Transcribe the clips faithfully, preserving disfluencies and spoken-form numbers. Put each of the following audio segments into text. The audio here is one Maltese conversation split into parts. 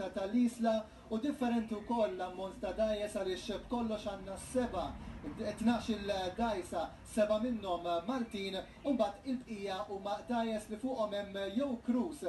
ta' tal-Isla u differenti wkoll l-ammont ta' dgħajjes, għaliex b'kollox għandna seba' tnax-il dgħajsa, seba' minnhom Maltin u mbagħad il-bqija huma dgħajjes li fuqhom hemm jew crews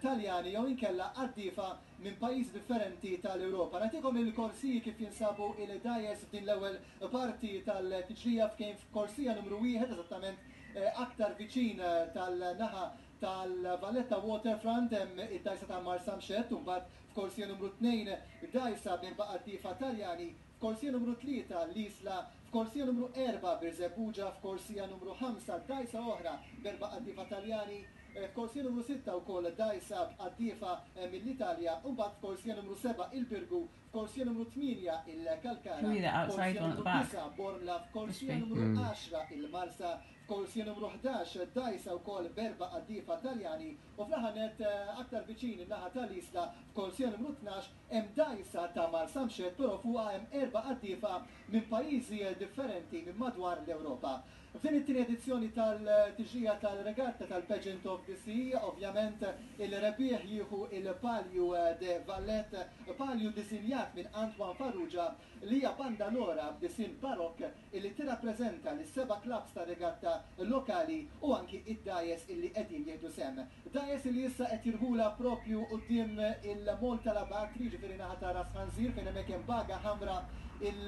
Taljani jew inkella qaddiefa minn pajjiżi differenti tal-Ewropa. Nagħtikom il-korsiji kif jinsabu il-dgħajjes f'din l-ewwel parti tal-tiġrija. F'kejn f'korsija numru wieħed, eżattament eh, aktar viċin eh, tal-naħa tal-Valletta Waterfront, hemm id-dgħajsa ta' Marsamxett, u mbagħad f'korsija numru tnejn dgħajsa b'erba' qaddiefa Taljani, f'korsija numru tlieta l-Isla, f'korsija numru erba' Birżebbuġa, f'korsija numru ħamsa dgħajsa oħra b'erba' qaddiefa Taljani, eh, f'korsija numru sitta wkoll dgħajsa b'qaddiefa eh, mill-Italja, u mbagħad f'korsija numru seba' il-Birgu, f'korsija numru tmienja il-Kalkara, Can we the outside f'korsija one at numru the back? disgħa Bormla, f'korsija Must be. numru għaxra il-Marsa, f'korsija numru ħdax dgħajsa wkoll b'erba' qaddiefa Taljani u fl-aħħar nett, eh, aktar viċin in-naħa tal-Isla, f'korsija numru tnax hemm dgħajsa ta' Marsamxett, però fuqha hemm erba' qaddiefa minn pajjiżi differenti minn madwar l-Ewropa. F'din it-tieni edizzjoni tal-tiġrija tal-regatta tal-Pageant of the Sea, ovvjament il-rebbieħ jieħu il-Palju de Valette, palju disinjat minn Antoine Farrugia, li hija bandalora b'disin barokk illi tirrappreżenta lis-seba' clubs ta' regatta lokali u anki id-dgħajjes illi qegħdin jieħdu sehem. Dgħajjes illi issa qed jirħula propju quddiem il-Mol tal-Abatri, ġifieri naħa ta' Ras Ħanżir, fejn hemmhekk hemm baga ħamra,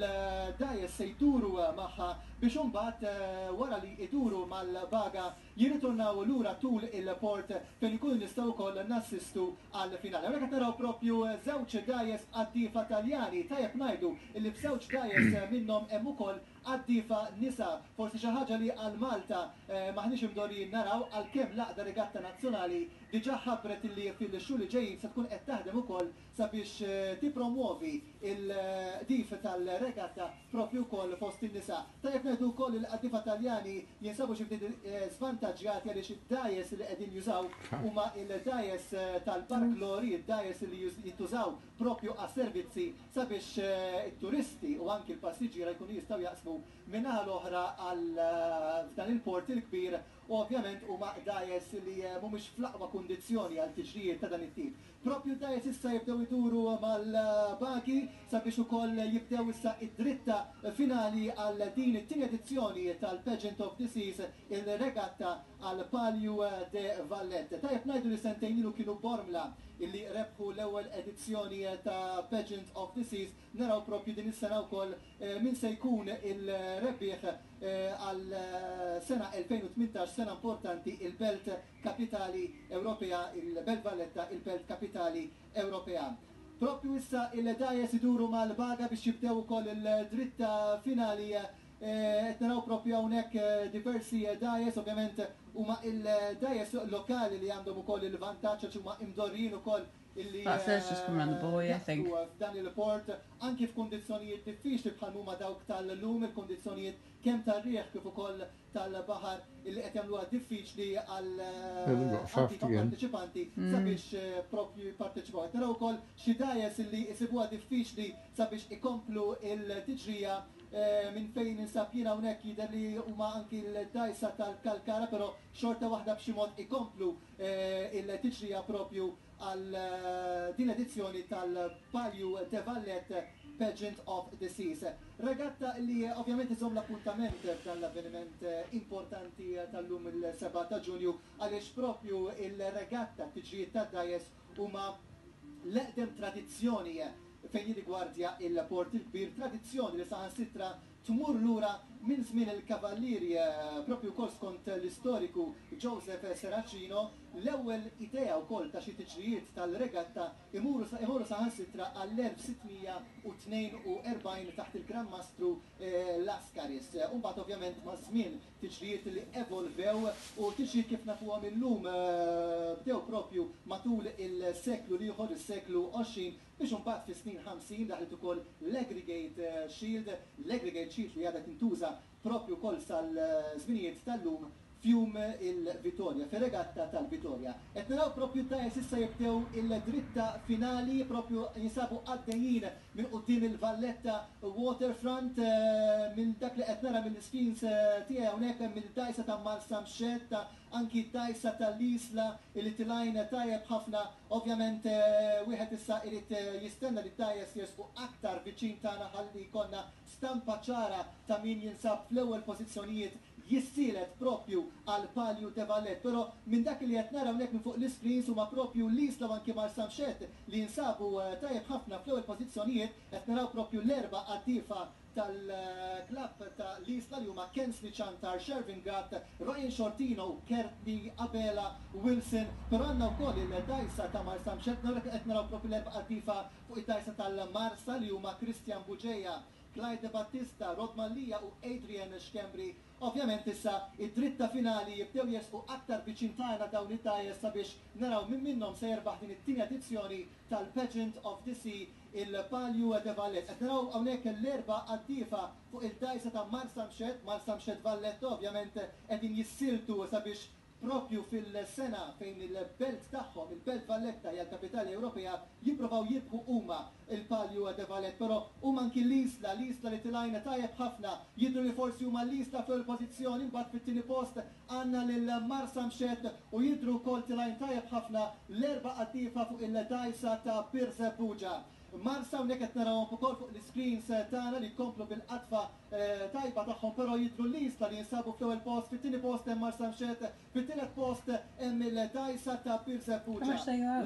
il-dgħajjes se jduru magħha biex imbagħad eh, wara li iduru mal-baga jirritornaw lura tul il-port fejn ikunu nistgħu wkoll nassistu għal finali. Hawnhekk qed naraw propju żewġ dgħajjes qaddiefa Taljani, tajjeb ngħidu illi f'żewġ dgħajjes minnhom hemm ukoll qaddiefa nisa, forsi xi ħaġa li għal Malta eh, maħniex imdorrijin naraw, għalkemm l-Għaqda Regatta Nazzjonali diġà ħabbret illi fil-xhur li ġejjin se tkun qed taħdem ukoll sabiex eh, tipromuovi il-qdif tal-regatta propju wkoll fost in-nisa. Tajjeb ngħidu wkoll il-qaddiefa Taljani jinsabu xi ftit eh, żvantaġġjati għaliex id-dgħajjes li qegħdin jużaw huma il-dgħajjes eh, tal-barklori, id-dgħajjes li już- jintużaw propju għas-servizzi sabiex eh, it-turisti u anki l-passiġġiera jkunu jistgħu jaqsmu min-naħa l-oħra għal eh, f'dan il-port il-kbir, u ovvjament huma dgħajjes li eh, mhumiex fl-aqwa kundizzjoni għal tiġrijiet ta' dan it-tip. Propju dgħajjes issa jibdew iduru mal-bagi sabiex ukoll jibdew issa id-dritta finali għal din it-tieni edizzjoni tal-Pageant of the Seas, il-regatta għal Palju de Vallette. Tajjeb ngħidu li sentejn ilu kienu Bormla illi rebħu l-ewwel edizzjoni ta' Pageant of the Seas. Naraw propju din is-sena wkoll eh, min se jkun il-rebbieħ eh, għal eh, sena elfejn u tmintax, sena importanti, il-Belt Kapitali Ewropea, il-Belt Valletta, il-Belt Kapitali Ewropea. Propju issa il-dgħajjes iduru mal-baga biex jibdew ukoll il-dritta finali. eh, Qed naraw propju hawnhekk eh, diversi dgħajjes, ovvjament huma il-dgħajjes lokali li għandhom ukoll il-vantaġġ għax huma imdorrijin ukoll illi That's it, just come round the buoy, I think. jaqsmu f'dan il-port anki f'kundizzjonijiet diffiċli bħal huma dawk tal-lum, il-kundizzjonijiet kemm tar-riħ kif ukoll tal-baħar illi qed jagħmluha diffiċli għal They've got fast again. partiċipanti sabiex eh, propju jipparteċipaw. Qed naraw ukoll xi dgħajjes illi jsibuha diffiċli sabiex ikomplu il-tiġrija eh, minn fejn ninsab jiena hawnhekk jidher li huma anki l-dgħajsa tal-Kalkara, però xorta waħda b'xi mod ikomplu eh, il-tiġrija propju għal eh, din edizzjoni tal-Palju de Valette Pageant of the Seas. Regatta li eh, ovvjament iżomm l-appuntament f'dan l-avveniment eh, importanti tal-lum, il-sebgħa ta' Ġunju, għaliex propju il-regatta tiġrijiet tad-dgħajjes huma l-eqdem tradizzjoni fejn jirrigwardja il-Port il-Kbir, tradizzjoni li saħansitra tmur lura minn żmien il-kavallieri, eh, propju wkoll skont l-istoriku Joseph Serracino, l-ewwel idea wkoll ta' xi tiġrijiet tal-regatta imuru imuru saħansitra għall-elf sitt mija u tnejn u erbgħin taħt il-Gran Mastru eh, Lascaris. Umbagħad ovvjament ma' żmien tiġrijiet li evolvew u tiġrijiet kif nafuhom illum eh, bdew propju matul il-seklu l-ieħor, is-seklu għoxrin, biex imbagħad fi snin ħamsin daħlet ukoll l-Aggregate eh, Shield, l-Aggregate Shield li għadha tintuża propju wkoll sal-żminijiet tal-lum. F'jum il-Vitorja, fir-regatta tal-Vitorja. Qed naraw propju dgħajjes issa jibdew il-dritta finali, propju jinsabu għaddejjin minn quddiem il-Valletta Waterfront, minn dak li qed nara mill-screens tiegħi hawnhekk hemm il-dgħajsa ta' Marsamxett, anki d-dgħajsa tal-Isla li telgħin tajjeb ħafna. Ovvjament wieħed issa irid jistenna li d-dgħajjes jersqu aktar viċin tagħna ħalli jkollna stampa ċara ta' min jinsab fl-ewwel pożizzjonijiet jissielet propju għal Palju de Valletta. Però minn dak li qed nara hawnhekk minn fuq l-screens huma propju l-Isla u anki Marsamxett li jinsabu tajjeb ħafna fl-ewwel pożizzjonijiet. Qed naraw propju l-erba' qaddiefa tal-klabb ta' l-Isla li huma Kensley Ciantar, Shervin Gatt, Ryan Shortino u Kertney Abela Wilson. Però għandna wkoll il-dgħajsa ta' Marsamxett, qed naraw propju l-erba' qaddiefa fuq id-dgħajsa tal-Marsa li huma Christian Bugeja, Clyde Battista, Rod Mallia u Adrian Schembri. Ovvjament issa id-dritta finali jibdew jersqu aktar viċin tagħna dawn id-dgħajjes sabiex naraw min minnhom se jerbaħ din it-tieni edizzjoni tal-Pageant of the Sea, il-Palju de Valletta. Qed naraw hawnhekk l-erba' qaddiefa fuq il-dgħajsa ta' Marsamxett, Marsamxett Valletta, ovvjament qegħdin jissieltu sabiex propju fil-sena fejn il-belt tagħhom, il-Belt Valletta hija l-kapitali Ewropea, jipprovaw jirbħu huma il-Palju de Valletta, però huma anki l-Isla, l-Isla li telgħin tajjeb ħafna, jidhru li forsi huma l-Isla fil-pożizzjoni, mbagħad fit-tieni post għandna lil Marsamxett u jidhru wkoll telgħin tajjeb ħafna l-erba' qaddiefa fuq il-dgħajsa ta' Birżebbuġa. Marsa hawnhekk qed narawhom ukoll fuq l-screens tagħna li jkomplu bil-qadfa tajba tagħhom, però jidhru l-Isla li jinsabu fl-ewwel post, fit-tieni post hemm Marsamxett, fit-tielet post hemm il-dgħajsa ta' Birżebbuġa. How much they are?